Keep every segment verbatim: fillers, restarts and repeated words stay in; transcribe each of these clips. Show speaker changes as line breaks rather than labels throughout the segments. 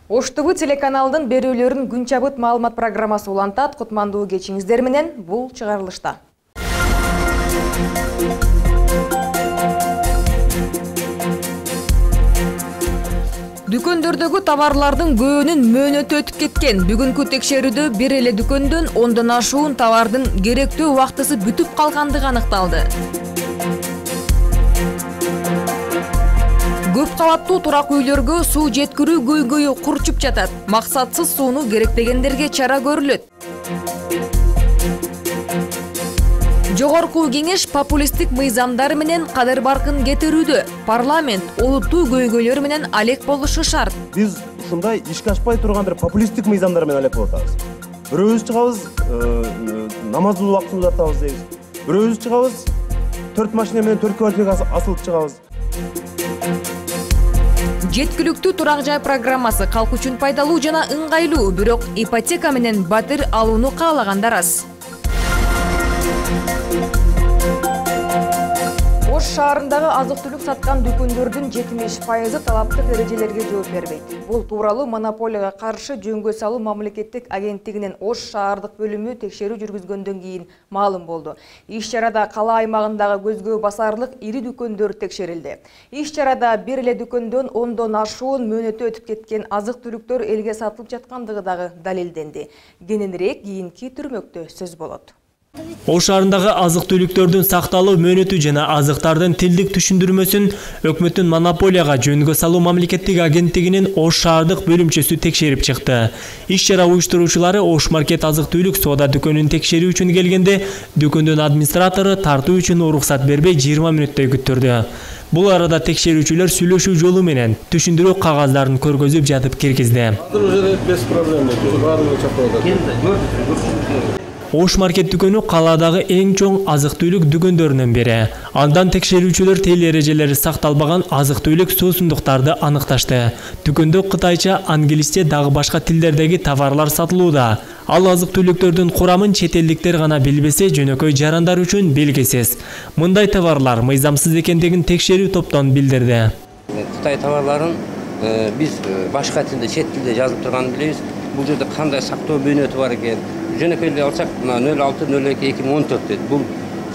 Ош тэ вэ телеканалдын берүүлөрүн күн чабыт маалымат программасы улантат. Кутмандуу кечиңиздер менен бул чыгарылышта. Дүкөндөрдөгү товарлардын көбүнүн мөөнөтү өтүп кеткен. Бүгүнкү текшерүүдө бир эле дүкөндөн ондон ашуун товардын керектүү убактысы бүтүп калгандыгы аныкталды. Көп кабаттуу турак үйлөргө суу жеткирүү көйгөйү курчуп жатат. Максатсыз сууну керектегендерге чара көрүлөт. Жогорку кеңеш популисттик мыйзамдар менен кадыр баркын кетирүүдө. Парламент олуттуу көйгөйлөр менен алек болушу шарт.
Биз ушундай ишке ашпай турган бир популисттик мыйзамдар менен алек болуп атабыз. Бирөөбүз чыгабыз, намаздын убактын узартабыз дейбиз. Бирөөбүз чыгабыз, төрт машина менен төрт квартирага асылып чыгабыз.
Жеткиликтүү турак жай программасы калк үчүн пайдалуу жана ыңгайлуу, бирок ипотека менен батир алууну каалагандар аз. Ош шаарындагы азык-түлүк саткан дүкөндөрдүн жетимиш пайызы талаптык эрежелерге жооп бербейт. Бул тууралуу монополияга каршы жөнгө салуу мамлекеттик агенттигинин Ош шаардык бөлүмү текшерүү жүргүзгөндөн кийин маалым болду. Иш-чарада кала аймагындагы көзгө басарлык ири дүкөндөр текшерилди. Иш-чарада бир эле дүкөндөн ондон ашуун мөөнөтү өтүп кеткен азык-түлүктөр элге сатылып жаткандыгы дагы далилденди. Кененирээк кийинки түрмөктө сөз болот.
Ош шаарындагы азык-түлүктөрдүн сакталуу мөөнөтү жана азыктардын тилдик түшүндүрмөсүн өкмөттүн монополияга жөнгө салуу мамлекеттик агенттигинин Ош шаардык бөлүмчөсү текшерип чыкты. Иш-чара уюштуруучулары Ош маркет азык-түлүк соода дүкөнүн текшерүү үчүн келгенде, дүкөндүн администратору тартуу үчүн уруксат бербей жыйырма мүнөттөй күттүрдү. Бул арада текшерүүчүлөр сүйлөшүү жолу менен түшүндүрүү кагаздарын көргөзүп жатып киргизди. Ош маркет дүкөнү каладагы эң чоң азык-түлүк дүкөндөрүнүн бири. Андан текшерүүчүлөр тил эрежелери сакталбаган азык-түлүк суусундуктарды аныкташты. Дүкөндө кытайча, англисче дагы башка тилдердеги товарлар сатылууда. Ал азык-түлүктөрдүн курамын чет элдиктер гана билбесе, жөнөкөй жарандар үчүн белгисиз. Мындай товарлар мыйзамсыз экендигин текшерүү топтон билдирди.
Кытай товарларын биз башка тилде, чет тилде жазылып турганын билебиз. Бул жерде кандай сактоо мөөнөтү бар экен? Жөнөкөйлөп алсак, нөл алты нөл эки эки миң он төрт дейт. Бул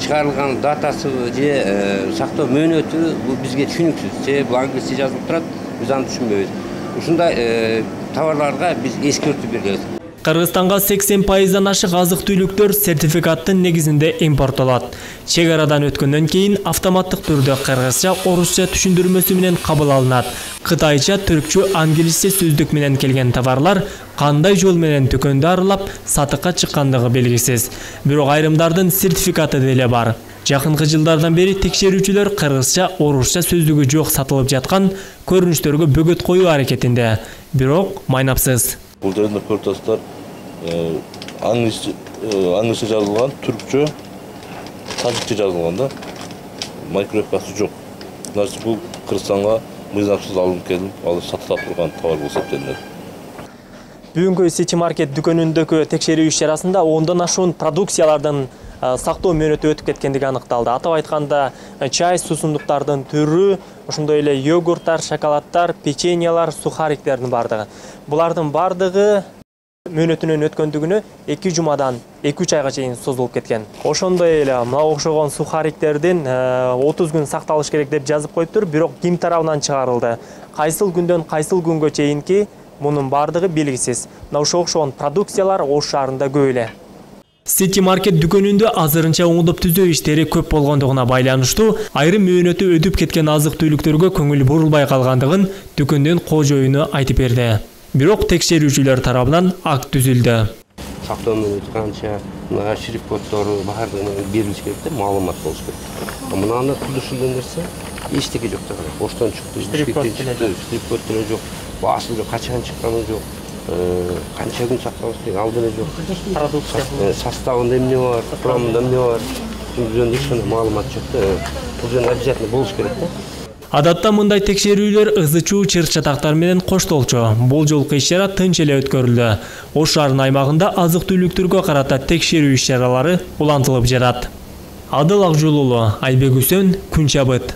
чыгарылган датасы же сактоо мөөнөтү бул бизге түшүнүксүз. Же бул англисче жазылып турат, биз аны түшүнбөйбүз. Ушундай товарларга биз эскертүү беребиз.
Кыргызстанга сексен пайыздан ашык азык-түлүктөр сертификаттын негизинде импорттолот. Чек арадан өткөндөн кийин автоматтык түрдө кыргызча, орусча түшүндүрмөсү менен кабыл алынат. Кытайча, түркчө, англисче сөздүк менен келген товарлар кандай жол менен дүкөндү аралап сатыкка чыккандыгы белгисиз. Бирок айрымдардын сертификаты деле бар. Жакынкы жылдардан бери текшерүүчүлөр кыргызча, орусча сөздүгү жок сатылып жаткан көрүнүштөргө бөгөт коюу аракетинде. Бирок майнапсыз.
Бул жерде көрүп атасыздар, англисче жазылган, түркчө, тажикче жазылган да. Маркировкасы жок. Значит, бул Кыргызстанга мыйзамсыз алынып келип, ал сатылып турган товар болуп эсептелет.
Бүгүнкү Сити маркет дүкөнүндөгү текшерүү иш-чарасында ондон ашуун продукциялардын сактоо мөөнөтү өтүп кеткендиги аныкталды. Атап айтканда, чай, суусундуктардын түрү, ошондой эле йогурттар, шоколаддар, печеньялар, сухариктердин бардыгы. Булардын бардыгы мөөнөтүнөн өткөндүгүнө эки жумадан эки үч айга чейин созулуп кеткен. Ошондой эле мына окшогон сухариктердин отуз күн сакталыш керек деп жазып коюптур, бирок ким тарабынан чыгарылды? Кайсыл күндөн кайсыл күнгө чейинки мунун бардыгы белгисиз. Мына ошо окшогон продукциялар Ош шаарында көп эле. Сити маркет дүкөнүндө азырынча оңдоп түзөө иштери көп болгондугуна байланыштуу айрым мөөнөтү өтүп кеткен азык-түлүктөргө көңүл бурулбай калгандыгын дүкөндүн кожоюну айтып берди. Бирок текшерүүчүлөр тарабынан акт түзүлдү.
Сактоо мөөнөтү канча, мына шрифт-коддору баардыгы берилиш керек деп маалымат болуш керек. Мынаны түзүшүлгөн нерсе эчтеке жок да. Оштон чыкты, шрифт-код деле жок, баасы жок, качан чыкканы жок. Канча күн сакталыш керек, ал деле жок. Продукция составында эмне бар, курамында эмне бар. Бул жөнүндө эч маалымат жок да. Бул жөнүндө обязательно болуш керек да.
Адатта мындай текшерүүлөр ызы-чуу чыр-чатактар менен коштолчу. Бул жолку иш-чара тынч эле өткөрүлдү. Ош шаарынын аймагында азык-түлүктөргө карата текшерүү иш-чаралары улантылып жатат. Адыл Акжол уулу, Айбек Үсөн, Күн чабыт.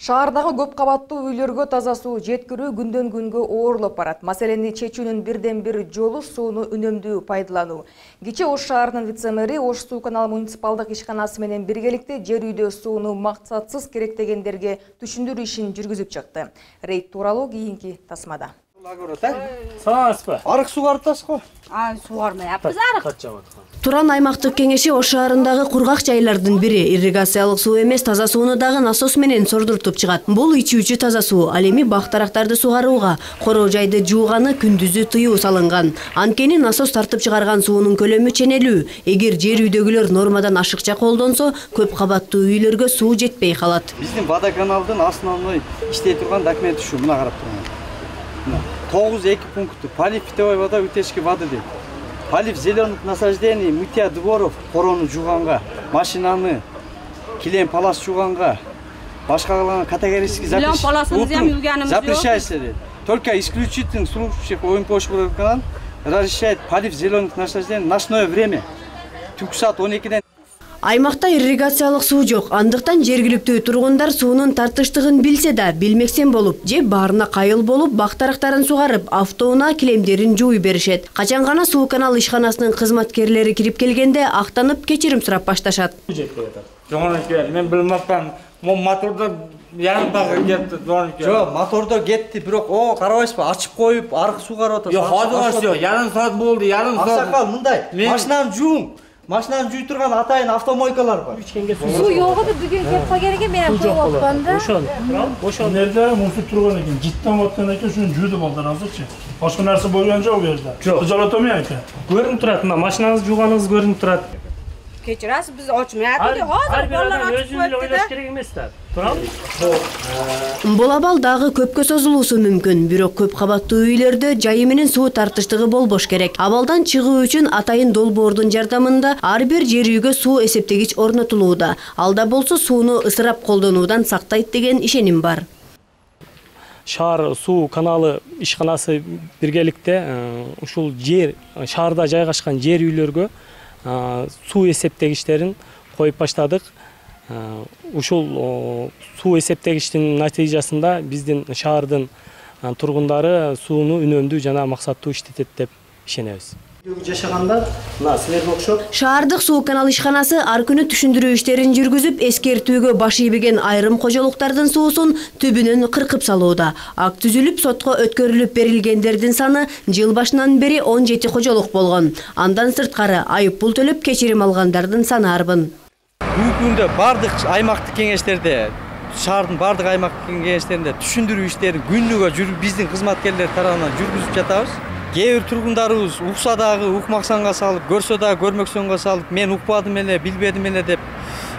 Шаардагы көп кабаттуу үйлөргө таза суу жеткирүү күндөн күнгө оорлоп барат. Маселени чечүүнүн бирден бир жолу сууну үнөмдүү пайдалануу. Кечээ Ош шаарынын вице-мэри Ош суу канал муниципалдык ишканасы менен биргеликте жер үйдө сууну максатсыз керектегендерге түшүндүрүү ишин жүргүзүп чыкты. Рейд тууралуу кийинки тасмада.
Саламатсызбы? Арык сугарып го?
А, сугармайаппыз арык.
Туран аймактык кеңеши Ош шаарындагы кургак жайлардын бири. Ирригациялык суу эмес, таза сууну дагы насос менен сордуртуп чыгат. Бул ичүүчү таза суу. Ал эми бак-дарактарды сугарууга, короо жайды жууганы күндүзү тыюу салынган. Анткени насос тартып чыгарган суунун көлөмү ченелүү. Эгер жер үйдөгүлөр нормадан ашыкча колдонсо, көп кабаттуу үйлөргө суу жетпей калат.
Биздин водоканалдын основной иштей турган документи ушу, мына карап турган. тогуз эки пункту полив питьевой вода, утечки воды дейт. Полив зеленых насаждений, мытья дворов, короону жууганга, машинаны, килем палас жууганга, башка калган категорически запрещается. Только исключительных случаев ОМПОшкадан разрешает полив зеленых насаждений ночное время. Түнкү саат он экиден.
Аймакта ирригациялык суу жок. Андыктан жергиликтүү тургундар суунун тартыштыгын билсе да, билмексен болуп, же баарына кайыл болуп, бак-дарактарын сугарып, автоунаа килемдерин жууй беришет. Качан гана суу канал ишканасынын кызматкерлери кирип келгенде актанып кечирим сурап башташат.
Мен билмепмин. Мотордо ярым багы кетти, донуке.
Жок, мотордо кетти, бирок о, карабайсызбы, ачып коюп, арык сугарып атат.
Жок, хозыр ярым саат болду, ярым саат.
Аксакал, мындай, машинаны жуум. Машинаны жуй турган атайын автомойкалар бар.
Суу жок эди, бүгүн кеп калган экен, мен коюп аткам да.
Ошон. Ошон жерде мусор турган экен, життен аткан экен, ушуну жууду балдар азырчы. Башка нерсе болгон жок бу жерде. Жалатомой экен.
Көрүнүп турат, мына машинаңызды жууганыңыз көрүнүп турат.
Кечирасыз, биз очмай атты. Хозыр балдар ачып
өзүн эле ойлош керек эмес да. Туурабы?
Бул абал дагы көпкө созулуусу мүмкүн, бирок көп кабаттуу үйлөрдө жайы менен суу тартыштыгы болбош керек. Абалдан чыгуу үчүн атайын долбоордун жардамында ар бир жер үйгө суу эсептегич орнотулууда. Алда болсо сууну ысырап колдонуудан сактайт деген ишеним бар.
Шаар суу каналы ишканасы биргеликте ушул жер шаарда жайгашкан жер үйлөргө суу эсептегичтерин коюп баштадык. Ушул суу эсептегичтин натыйжасында биздин шаардын тургундары сууну үнөмдүү жана максаттуу иштетет деп ишенебиз.
Жашаганда мына силерге окшоп
Шаардык суу канал ишканасы ар күнү түшүндүрүү иштерин жүргүзүп, эскертүүгө баш ийбеген айрым кожолуктардын суусун түбүнөн кыркып салууда. Акт түзүлүп, сотко өткөрүлүп берилгендердин саны жыл башынан бери он жети кожолук болгон. Андан сырткары айып пул төлөп кечирим алгандардын саны арбын.
Бүгүнкү күндө бардык аймактык кеңештерде, шаардын бардык аймактык кеңештеринде түшүндүрүү иштерин күнүгө биздин кызматкерлер тарабынан жүргүзүп жатабыз. Кээ бир тургундарыбыз укса дагы укмаксанга салып, көрсө дагы көрмөксөнгө салып, мен укпадым эле, билбедим эле деп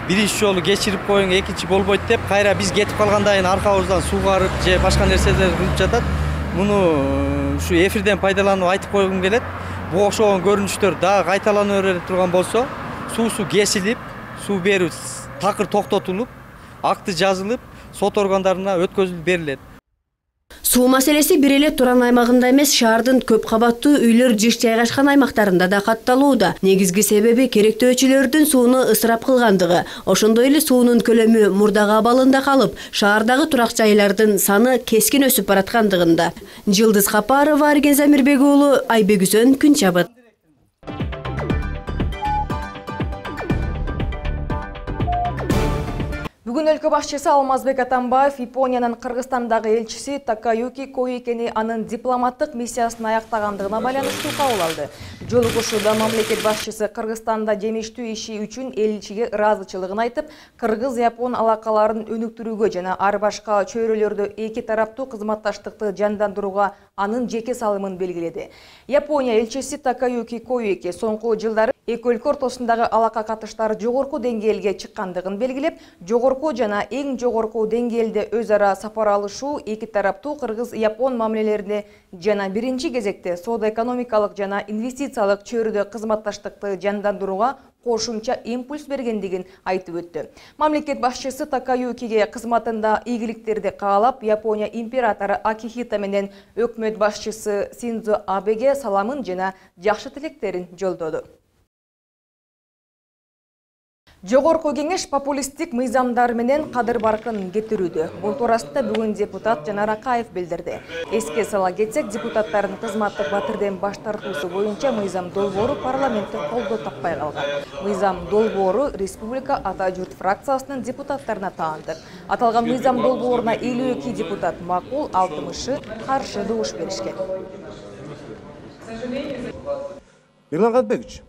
биринчи жолу кечирип коюң, экинчи болбойт деп, кайра биз кетип калгандан кийин аркабыздан суугарып же башка нерселер кылып жатат. Муну ушу эфирден пайдаланып айтып койгум келет. Буга окшогон көрүнүштөр дагы кайталана бере турган болсо, суусу кесилип, суу берүү такыр токтотулуп, акты жазылып, сот органдарына өткөзүлүп берилет.
Суу маселеси бир эле Туран аймагында эмес, шаардын көп кабаттуу үйлөр жыш жайгашкан аймактарында да катталууда. Негизги себеби керектөөчүлөрдүн сууну ысырап кылгандыгы. Ошондой эле суунун көлөмү мурдагы абалында калып, шаардагы турак жайлардын саны кескин өсүп бараткандыгында. Жылдыз Капарова, Арген Замирбек уулу, Айбек-Үсөн, Күн чабыт.
Бүгүн өлкө башчысы Алмазбек Атамбаев Япониянын Кыргызстандагы элчиси Такаюки Коикени анын дипломаттык миссиясын аяктагандыгына байланыштуу кабыл алды. Жолугушууда мамлекет башчысы Кыргызстанда жемиштүү иши үчүн элчиге ыраазычылыгын айтып, кыргыз-япон алакаларын өнүктүрүүгө жана ар башка чөйрөлөрдө эки тараптуу кызматташтыкты жандандырууга анын жеке салымын белгиледи. Япония элчиси Такаюки Коики соңку жылдары эки өлкө ортосундагы алака катыштар жогорку деңгээлге чыккандыгын белгилеп, жогорку жана эң жогорку деңгээлде өз ара сапар алышуу эки тараптуу кыргыз-япон мамилелерине жана биринчи кезекте соода-экономикалык жана инвестициялык чөйрөдө кызматташтыкты жандандырууга кошумча импульс бергендигин айтып өттү. Мамлекет башчысы Такаюкиге кызматында ийгиликтерди каалап, Япония императору Акихито менен өкмөт башчысы Синдзо Абеге саламын жана жакшы тилектерин жолдоду. Жогорку кеңеш популисттик мыйзамдар менен кадыр баркын кетирүүдө. Бул туурасында бүгүн депутат Жанар Акаев билдирди. Эске сала кетсек, депутаттардын кызматтык батирден баш тартуусу боюнча мыйзам долбоору парламентте колдоо таппай калган. Мыйзам долбоору Республика Ата журт фракциясынын депутаттарына таандык. Аталган мыйзам долбооруна элүү эки депутат макул, алтымышы каршы добуш беришкен.
Мирлан Кадырбекович,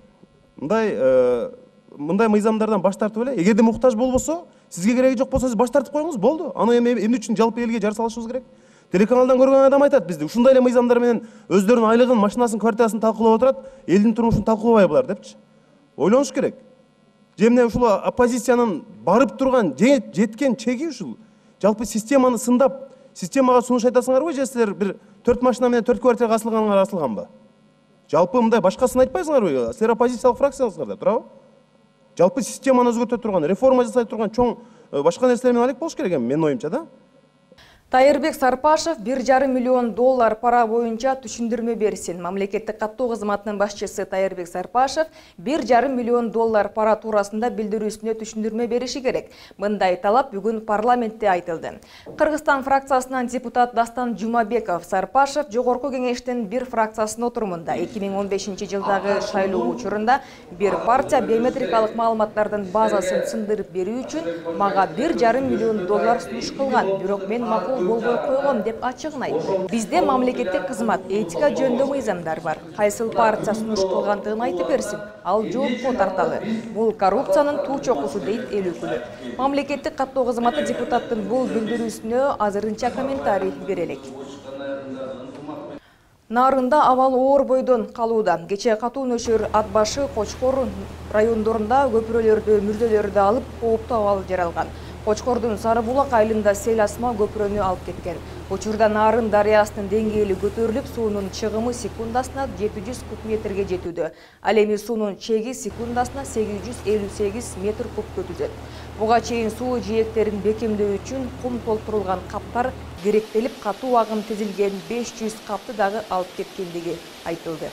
мындай мындай мыйзамдардан баш тартып эле, эгерде муктаж болбосо, сизге кереги жок болсо, сиз баш тартып коюңуз, болду. Аны эми эмне үчүн жалпы элге жар салышыбыз керек? Телеканалдан көргөн адам айтат бизди, ушундай эле мыйзамдар менен өздөрүнүн айлыгын, машинасын, квартирасын талкуулап отурат, элдин турмушун талкуулабай булар депчи. Ойлонуш керек. Же эмне ушул оппозициянын барып турган, жеткен чеги ушул. Жалпы системаны сындап, системага сунуш айтасыңарбы, же силер бир төрт машина менен төрт квартирага асылганыңар асылганбы? Жалпы мындай башкасын айтпайсыңарбы? Силер оппозициялык фракцияңыздар деп, туурабы? Жалпы системаны өзгөртө турган, реформа жасай турган чоң башка нерселер менен алек болуш керек эми, менин оюмча да.
Тайырбек Сарпашев бир жарым миллион доллар пара боюнча түшүндүрмө берсин. Мамлекеттик каттоо кызматынын башчысы Тайырбек Сарпашев бир жарым миллион доллар пара туурасында билдирүүсүнө түшүндүрмө бериши керек. Мындай талап бүгүн парламентте айтылды. Кыргызстан фракциясынан депутат Дастан Жумабеков Сарпашев жогорку кеңештин бир фракциясынын отурумунда эки миң он бешинчи жылдагы шайлоо учурунда бир партия биометрикалык маалыматтардын базасын сындырып берүү үчүн мага бир жарым миллион доллар сунуш кылган, бирок мен макул болбой койгом деп ачыгын айтты. Бизде мамлекеттик кызмат этика жөнүндө мыйзамдар бар. Кайсыл партия сунуш кылгандыгын айтып берсин, ал жоопко тарталы. Бул коррупциянын туу чокусу дейт эл өкүлү. Мамлекеттик каттоо кызматы депутаттын бул билдирүүсүнө азырынча комментарий бере элек. Нарында абал оор бойдон калууда. Кече катуу нөшөр ат башы Кочкор райондорунда көпүрөлөрдү, мүрдөлөрдү алып, кооптуу абал жаралган. Кочкордун Сары Булак айылында сел асма көпүрөнү алып кеткен. Учурда Нарын дарыясынын деңгээли көтөрүлүп, суунун чыгымы секундасына жети жүз куб метрге жетүүдө. Ал эми суунун чеги секундасына сегиз жүз элүү сегиз метр куб өтүзөт. Буга чейин суу жээктерин бекемдөө үчүн кум толтурулган каптар керектелип, катуу агым тизилген беш жүз капты дагы алып кеткендиги айтылды.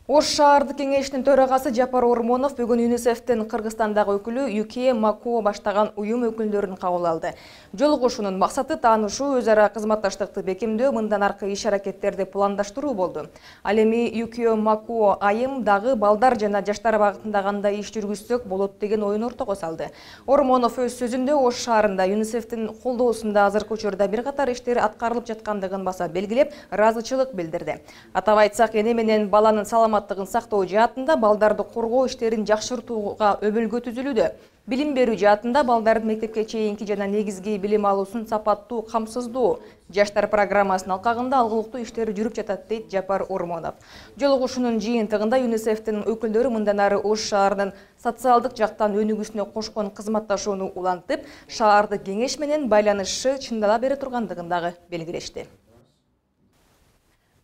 Ош шаардык кеңешинин төрагасы Жапар Ормонов бүгүн ЮНИСЕФтин Кыргызстандагы өкүлү Юкие Макуо баштаган уюм өкүлдөрүн кабыл алды. Жолугушуунун максаты таанышуу, өз ара кызматташтыкты бекемдөө, мындан аркы иш-аракеттерди пландаштыруу болду. Ал эми Юкие Макуо айым дагы балдар жана жаштар багытында кандай иш жүргүзсөк болот деген оюн ортого салды. Ормонов өз сөзүндө Ош шаарында ЮНИСЕФтин колдоосунда азыркы учурда бир катар иштер аткарылып жаткандыгын баса белгилеп, ыраазычылык билдирди. Атап айтсак, эне менен баланын саламаттыгын сактоо жаатында балдарды коргоо иштерин жакшыртууга өбөлгө түзүлүүдө. Билим берүү жаатында балдардын мектепке чейинки жана негизги билим алуусун сапаттуу камсыздоо жаштар программасынын алкагында алгылыктуу иштер жүрүп жатат, дейт Жапар Ормонов. Жолугушуунун жыйынтыгында ЮНИСЕФтин өкүлдөрү мындан ары Ош шаарынын социалдык жактан өнүгүүсүнө кошкон кызматташууну улантып, шаардык кеңеш менен байланышы чындала бере тургандыгын дагы белгилешти.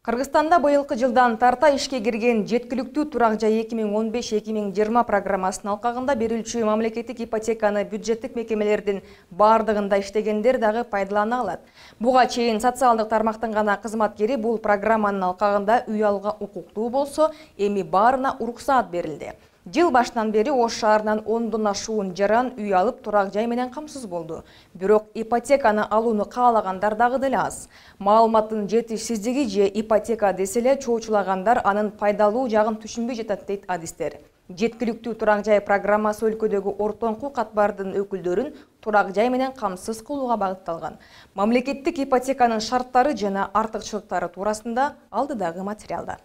Кыргызстанда быйылкы жылдан тарта ишке кирген жеткиликтүү турак жай эки миң он беш эки миң жыйырма программасынын алкагында берилчү мамлекеттик ипотеканы бюджеттик мекемелердин бардыгында иштегендер дагы пайдалана алат. Буга чейин социалдык тармактын гана кызматкери бул программанын алкагында үй алууга укуктуу болсо, эми баарына уруксаат берилди. Жыл башынан бери Ош шаарынан ондон ашуун жаран үй алып турак жай менен камсыз болду. Бирок ипотеканы алууну каалагандар дагы деле аз. Маалыматтын жетишсиздиги же ипотека деселе чоочулагандар анын пайдалуу жагын түшүнбөй жатат, дейт адистер. Жеткиликтүү турак жай программасы өлкөдөгү ортоңку катбардын өкүлдөрүн турак жай менен камсыз кылууга багытталган. Мамлекеттик ипотеканын шарттары жана артыкчылыктары туурасында алдыдагы материалда.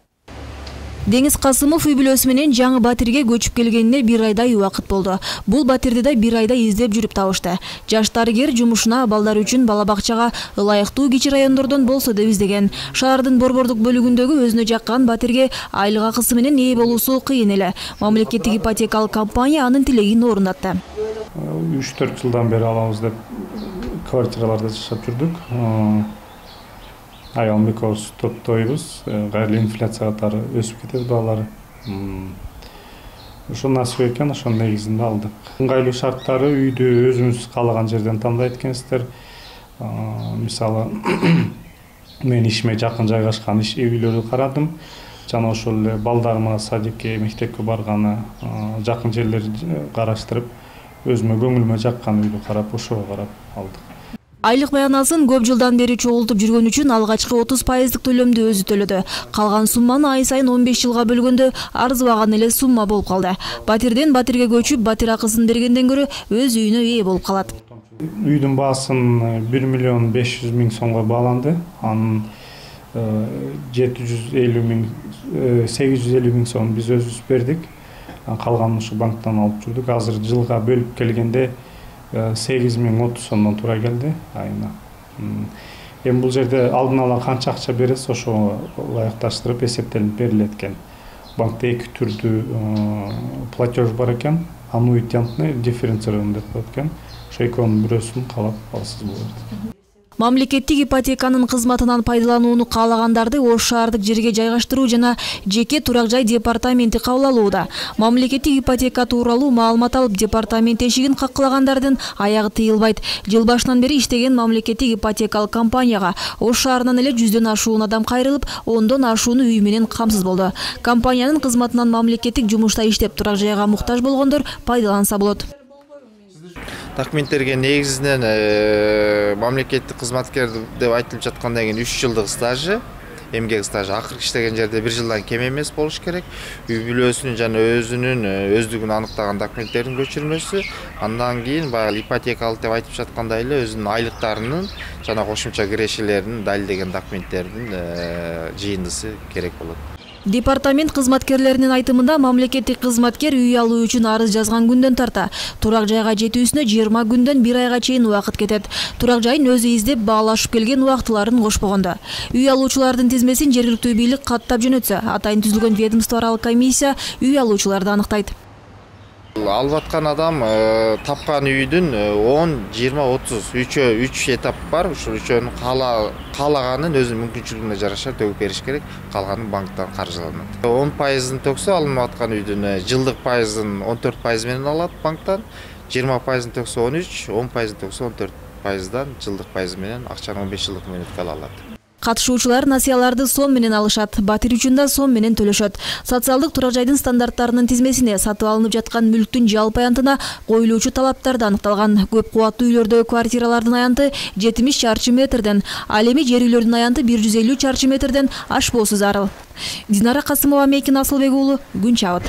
Деңиз Касымов үй бүлөсү менен жаңы батирге көчүп келгенине бир айдай убакыт болду. Бул батирди да бир айда издеп жүрүп табышты. Жаш дарыгер жумушуна балдар үчүн бала бакчага ылайыктуу кичи райондордон болсо деп издеген. Шаардын борбордук бөлүгүндөгү өзүнө жаккан батирге айлык акысы менен ээ болуусу кыйын эле. Мамлекеттик ипотекалык компания анын тилегин орундатты.
үч төрт жылдан бери алабыз деп квартираларда жашап жүрдүк. Аялым экөөбүз топтойбуз, кайрылуу инфляция катары өсүп кетет баалары. Ошо насып экен, ошонун негизинде алдык. Ыңгайлуу шарттары үйдү өзүңүз каалаган жерден тандайт экенсиздер. Мисалы, мен ишиме жакын жайгашкан үй бүлөлөрдү карадым. жана ошол эле балдарыма садикке, мектепке барганы, жакын жерлерди караштырып, өзүмө көңүлүмө жаккан үйдү карап, ошого карап алдык.
Айлык баянасын көп жылдан бери чогултуп жүргөн үчүн алгачкы отуз пайыздык төлөмдү өзү төлөдү. Калган сумманы ай сайын он беш жылга бөлгөндө арзыбаган эле сумма болуп калды. Батирден батирге көчүп, батир акысын бергенден көрө өз үйүнө ээ болуп калат.
Үйдүн баасын бир миллион беш жүз миң сомго бааланды. Анын жети жүз элүү миң, сегиз жүз элүү миң сом биз өзүбүз бердик. Калганын ушу банктан алып жүрдүк. Азыр жылга бөлүп келгенде сегиз миң отуз сомдон туура келди айына. Эми бул жерде алдын ала канча акча бересиз, ошого ылайыкташтырып эсептелип берилет экен. Банкта эки түрдүү платеж бар экен. Аннуитетный, дифференцированный деп коет экен. Ошо экөөнүн бирөөсүн каалап алсыз болот.
Мамлекеттик ипотеканын кызматынан пайдаланууну каалагандарды Ош шаардык жерге жайгаштыруу жана жеке турак жай департаменти кабыл алууда. Мамлекеттик ипотека тууралуу маалымат алып, департамент эшигин каккылагандардын аягы тыйылбайт. Жыл башынан бери иштеген мамлекеттик ипотекалык компанияга Ош шаарынан эле жүздөн ашуун адам кайрылып, ондон ашууну үй менен камсыз болду. Компаниянын кызматынан мамлекеттик жумушта иштеп турак жайга муктаж болгондор пайдаланса болот.
Документтерге негизинен мамлекеттик кызматкер деп айтылып жаткандан кийин үч жылдык стажы, эмгек стажы, акыркы иштеген жерде бир жылдан кем эмес болуш керек. Үй бүлөсүнүн жана өзүнүн өздүгүн аныктаган документтердин көчүрмөсү, андан кийин баягы ипотекалык деп айтып жаткандай эле өзүнүн айлыктарынын жана кошумча кирешелерин далилдеген документтердин жыйындысы керек болот.
Департамент кызматкерлеринин айтымында мамлекеттик кызматкер үй алуу үчүн арыз жазган күндөн тарта турак жайга жетүүсүнө жыйырма күндөн бир айга чейин убакыт кетет. Турак жайын өзү издеп баалашып келген убактыларын кошпогондо. Үй алуучулардын тизмесин жергиликтүү бийлик каттап жөнөтсө, атайын түзүлгөн ведомство аралык комиссия үй алуучуларды аныктайт.
Алып аткан адам тапкан үйдүн он, жыйырма, отуз үчөө үч этап бар. Ушул үчөөнүн каалаганын өзүнүн мүмкүнчүлүгүнө жараша төгүп бериш керек. Калганын банктан каржыланат. он пайызын төксө алынып аткан үйдүн жылдык пайызын он төрт пайыз менен алат банктан, жыйырма пайызын төксө он үч, он пайызын төксө он төрт пайыздан жылдык пайыз менен акчаны он беш жылдык мөөнөткө ала алат.
Катышуучулар насыяларды сом менен алышат, батир үчүн да сом менен төлөшөт. Социалдык турак жайдын стандарттарынын тизмесине сатып алынып жаткан мүлктүн жалпы аянтына коюлуучу талаптар да аныкталган. Көп кубаттуу үйлөрдө квартиралардын аянты жетимиш чарчы метрден, ал эми жер үйлөрдүн аянты бир жүз элүү чарчы метрден ашпоосу зарыл. Динара Касымова, Мейкин Асылбек уулу, Күн чабыт.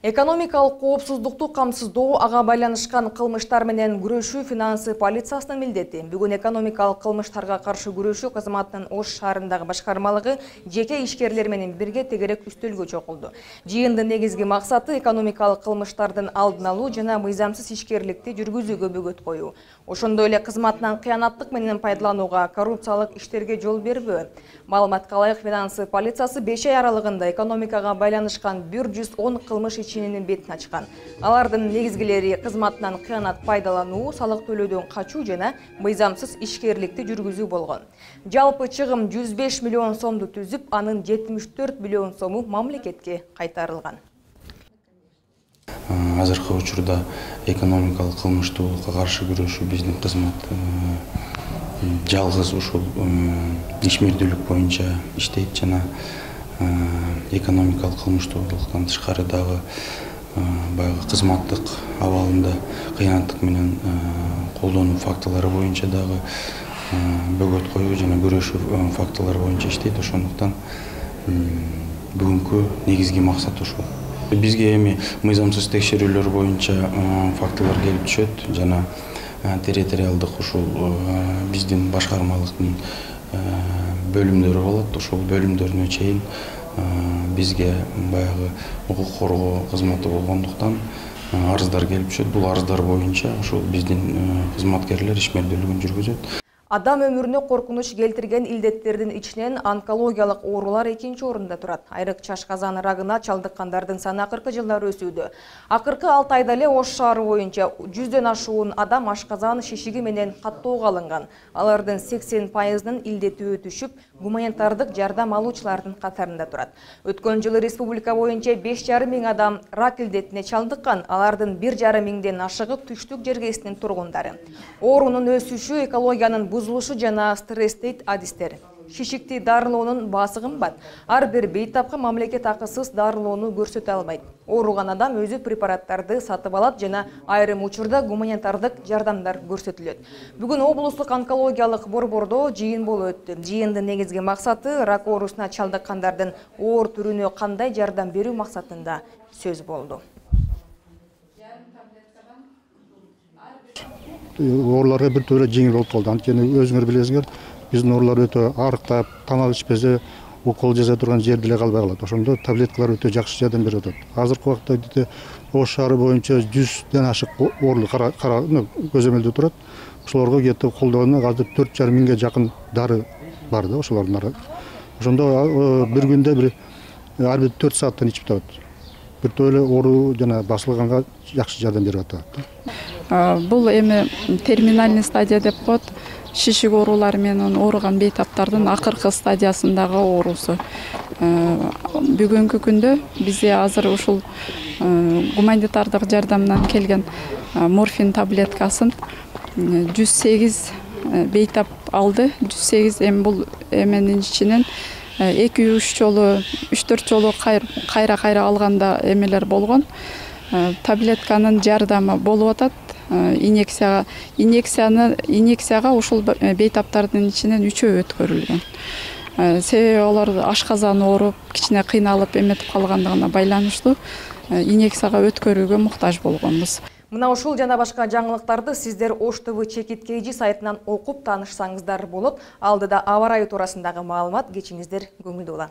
Экономикалык коопсуздукту камсыздоо, ага байланышкан кылмыштар менен күрөшүү финансы полициясынын милдети. Бүгүн экономикалык кылмыштарга каршы күрөшүү кызматынын Ош шаарындагы башкармалыгы жеке ишкерлер менен бирге тегерек үстөлгө чогулду. Жыйындын негизги максаты экономикалык кылмыштардын алдын алуу жана мыйзамсыз ишкерликти жүргүзүүгө бөгөт коюу. Ошондой эле кызматынан кыянаттык менен пайдаланууга, коррупциялык иштерге жол бербөө. Маалыматка ылайык финансы полициясы беш ай аралыгында экономикага байланышкан бир жүз он кылмыш ичининин бетин ачкан. Алардын негизгилери кызматынан кыянат пайдалануу, салык төлөөдөн качуу жана мыйзамсыз ишкерликти жүргүзүү болгон. Жалпы чыгым жүз беш миллион сомду түзүп, анын жетимиш төрт миллион сому мамлекетке кайтарылган.
Азыркы учурда экономикалык кылмыштуулукка каршы күрөшүү биздин кызмат жалгыз ушул ишмердүүлүк боюнча иштейт жана экономикалык кылмыштуулуктан тышкары дагы баягы кызматтык абалында кыянаттык менен колдонуу фактылары боюнча дагы бөгөт коюу жана күрөшүү фактылары боюнча иштейт. Ошондуктан бүгүнкү негизги максат ушул. Бизге эми мыйзамсыз текшерүүлөр боюнча фактылар келип түшөт жана территориалдык ушул биздин башкармалыктын бөлүмдөрү болот. Ошол бөлүмдөрүнө чейин бизге баягы укук коргоо кызматы болгондуктан арыздар келип түшөт. Бул арыздар боюнча ушул биздин кызматкерлер ишмердүүлүгүн жүргүзөт.
Адам өмүрүнө коркунуч келтирген илдеттердин ичинен онкологиялык оорулар экинчи орунда турат. Айрык чашказан рагына чалдыккандардын саны акыркы жылдары өсүүдө. Акыркы алты айда эле Ош шаары боюнча жүздөн ашуун адам ашказан шишиги менен каттоого алынган. Алардын сексен пайызынын илдети өтүшүп, гуманитардык жардам алуучулардын катарында турат. Өткөн жылы республика боюнча беш жарым миң адам рак илдетине чалдыккан. Алардын бир жарым миңден ашыгы түштүк жергесинин тургундары. Оорунун өсүшү экологиянын бузулушу жана стресс дейт адистер. Шишикти дарылоонун баасы кымбат. Ар бир бейтапка мамлекет акысыз дарылоону көрсөтө албайт. Ооруган адам өзү препараттарды сатып алат жана айрым учурда гуманитардык жардамдар көрсөтүлөт. Бүгүн облустук онкологиялык борбордо жыйын болуп өттү. Жыйындын негизги максаты рак оорусуна чалдыккандардын оор түрүнө кандай жардам берүү максатында сөз болду.
Ооруларга бир төрө жеңил болуп калды. Анткени өзүңөр билесиңер, биздин оорулар өтө арыктап, тамак ичпесе, укол жасай турган жер деле калбай калат. Ошондо таблеткалар өтө жакшы жардам берип атат. Азыркы убакта Ош шаары боюнча жүздөн ашык оорулуу көзөмөлдө турат. Ошолорго кетип колдоону азыр төрт жарым миңге жакын дары бар да, ошолордун ары. Ошондо бир күндө бир ар бир төрт сааттан ичип турат. Бир төлө оору жана басылганга жакшы жардам берип атат.
Бул эми терминальный стадия деп коет. Шишик оорулары менен ооруган бейтаптардын акыркы стадиясындагы оорусу. Бүгүнкү күндө бизде азыр ушул гуманитардык жардамдан келген морфин таблеткасын жүз сегиз бейтап алды. жүз сегиз эми бул эменин ичинен эки үч жолу, үч төрт жолу кайра-кайра алганда эмелер болгон. Таблетканын жардамы болуп атат. Инъекцияга, инъекцияны, инъекцияга ушул бейтаптардын ичинен үчөө өткөрүлгөн. Себеби алар ашказан ооруп, кичине кыйналып эметип калгандыгына байланыштуу инъекцияга өткөрүүгө муктаж болгонбуз.
Мына ушул жана башка жаңылыктарды сиздер Ош ТВ Чекит Кейжи сайтынан окуп таанышсаңыздар болот. Алдыда аба ырайы туурасындагы маалымат кечиңиздер көңүлдүү болот.